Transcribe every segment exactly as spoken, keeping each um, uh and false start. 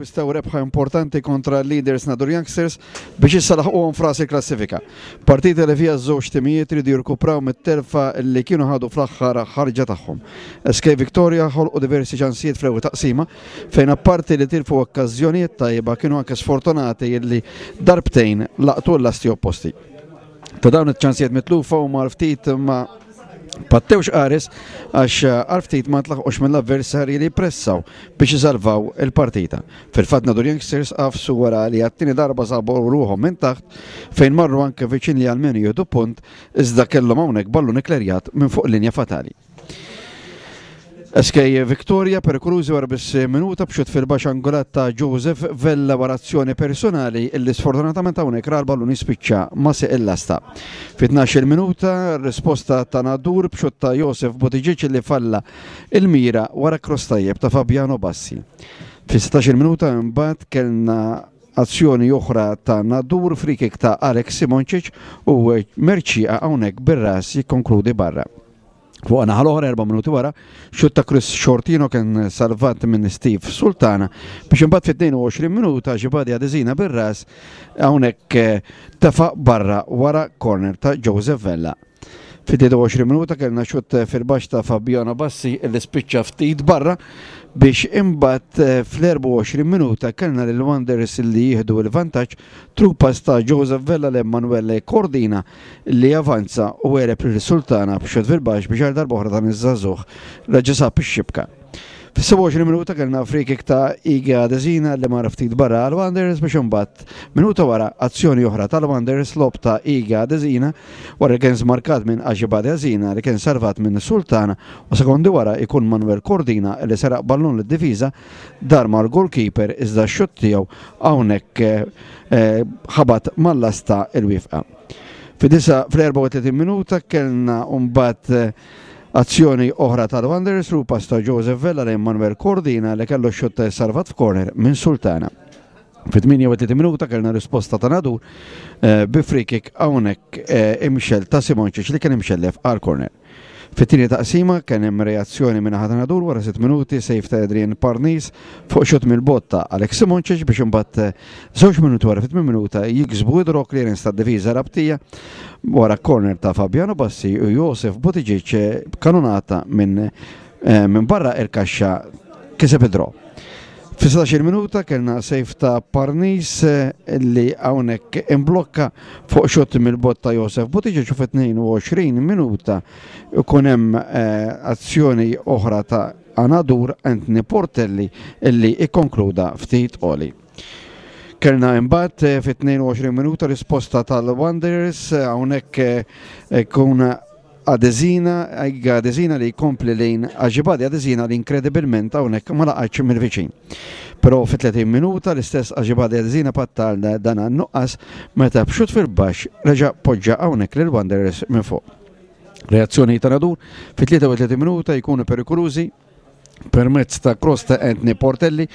Akkwistaw rebħa importanti kontra l-leaders Nadur Youngsters biex issa laħquhom f'ras il-klassifika. Partita li fiha żewġ timijiet ridu jirkupraw mit-telfa li kienu ħadu fl-aħħar ħarġa tagħhom. S K Victoria ħolqu diversi ċansijiet fl-ewwel taqsima, fejn apparti li tilfu okkażjonijiet tajba, kienu anke sfortunati li darbtejn laqtu l-lasti opposti. Ta' dawn iċ-ċansijiet mitlufa u ftit ma pattewx qares, għax għal ftit ma tlaħqux mill-avversarji li pressaw biex isalvaw il-partita. Fil-fatt, Nadur Youngsters għafsu wara li għat-tieni darba sabu ruħhom minn taħt, fejn marru anke viċin li għalmenu jieħdu punt, iżda kellhom hawnhekk ballun ikklerjat minn fuq linja fatali. S K Victoria perikolużi wara biss minuta b'xut fil-baxx angolat ta' Joseph Vella wara azzjoni personali illi sfortunatament hawnhekk ra l-ballun jispiċċa ma' sieq il-lasta. Fi tnax-il minuta, risposta ta' Nadur b'xut ta' Joseph Buttigieg li falla il-mira wara cross tajjeb ta' Fabiano Bassi. Fi sittax-il minuta imbagħad kellna azzjoni oħra ta' Nadur, free kick ta' Alex Simoncic, u Merċija hawnhekk bir-ras jikkonkludi barra. Fuq naħa l-oħra, erba' minuti wara, xut ta' Chris Shortino kien salvat minn Steve Sultana, biex imbagħad fit-tnejn u għoxrin minuta Ġibadi Adesina bir-ras hawnhekk eh, tefa' barra wara corner ta' Joseph Vella. Fit-tlieta u għoxrin minuta kellna xut fil-baxx ta' Fabiano Bassi li spiċċa ftit barra, biex imbagħad eh, fl-erbgħa u għoxrin minuta kellna lil Wanderers li jieħdu l-vantaġġ, through pass ta' Joseph Vella l Emanuele Cordina li avanza u għeleb lil Sultana b'xut fil-baxx, biex għal darb'oħra dan iż-żagħżugħ reġa' sab ix-xibka. Fis-sebgħa u għoxrin minuta kellna free kick ta' Iga Adesina li mar ftit barra għal Wanderers, biex imbagħad minuta wara azzjoni oħra tal-Wanderers, lob ta' Iga Adesina wara li kien smarkat minn Ajibade Azina li kien salvat minn Sultana, u sekondi wara ikun Manuel Cordina li seraq ballun lid-difiża, dar mal-goalkeeper, iżda x-xutt tiegħu hawnhekk eh, eh, ħabat mal-lasta il-wifqa. Fid-disa fl-erbgħa u tletin minuta kellna mbagħad eh, azzjoni oħra tal-Wanderers, through pass ta' Joseph Vella lejn Manuel Cordina li kellu xutt salvat f'corner minn Sultana. Fit-tmienja u tletin minuta kellna risposta ta' Nadur eh, bi free kick hawnhekk eh, imxel ta' Simoncic li kien imxellef għal corner. Fit-tieni taqsima kien hemm reazzjoni minn ta' Nadur wara sitt minuti, save ta' Adrian Parnis fuq xut mill-bogħod ta' Alex Simoncic, biex imbagħad eh, żewġ minuti wara, fit minuta, jiksbu draw, clearance ta' difiża Rabtija wara corner ta' Fabiano Bassi, u Josef Buttigieg eh, kanonata minn eh, minn barra il-kaxxa kiseb id-draw. Fi sittax-il minuta kellna save ta' Parnis eh, li hawnhekk imblokka fuq xut mill-bogħod ta' Josef Buttigieg, u fi tnejn u għoxrin minuta ikun hemm eh, azzjoni oħra ta' Nadur, Anthony Portelli illi ikkonkluda ftit għoli. Kellna imbagħad eh, fi tnejn u għoxrin minuta risposta tal-Wanderers, hawnhekk kun Adesina, Adesina li jkompli lejn Ajibade Adesina li inkredibilment hawnhekk ma laqatx mill-viċin. Però fi tletin minuta l-istess Ajibade Adesina patta dan nuqqas meta b'xut fil-baxx reġa' poġġa hawnhekk lil Wanderers minn fuq. Reazzjoni ta' Nadur fi tlieta u tletin minuta, jkunu perikolużi permezz ta' cross ta' Anthony Portelli,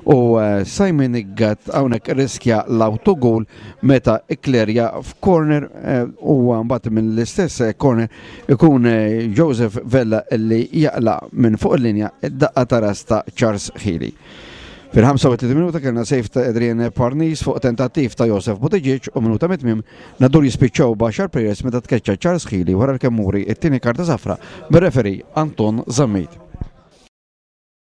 u eh, Simon Gatt hawnhekk riskja l-autogol meta ikklerja f'corner, eh, u mbagħad mill-istess corner ikun eh, Joseph Vella li jaqla minn fuq il-linja id-daqqa ta' ras ta' Charles Healy. Fil-ħamsa u tletin minuta kellna save ta' Adrian Parnis fuq tentattiv ta' Josef Buttigieg, u minuta mit-tmiem Nadur jispiċċaw b'għaxar players meta tkeċċa Charles Healy wara l-kemmuri it-tieni karta safra bir-referee Anton Zammit.